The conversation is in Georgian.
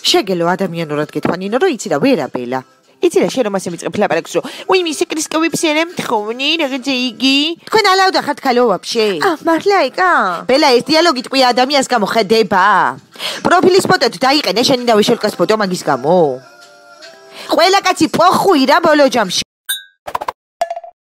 შეგელო ადამიანურად გეთქვანინო, რომ იცი რა ვერაბელა. იცი რა შენ რომ ასე მიწყებ ლაპარაკს რომ უი მისი კრისკოვებს ერემთხოვნი რაღაცა იგი თქვენ ალაუდა ხართ ქალო ვაფშე მართლა იკა ბელა ეს დიალოგი ტყვია ადამიანს გამოხედება პროფილის ფოტოდ დაიყენე შენი და ვიშელკას ფოტო მაგის გამო ყველა კაცი პოხუი რა ბოლო ჯამში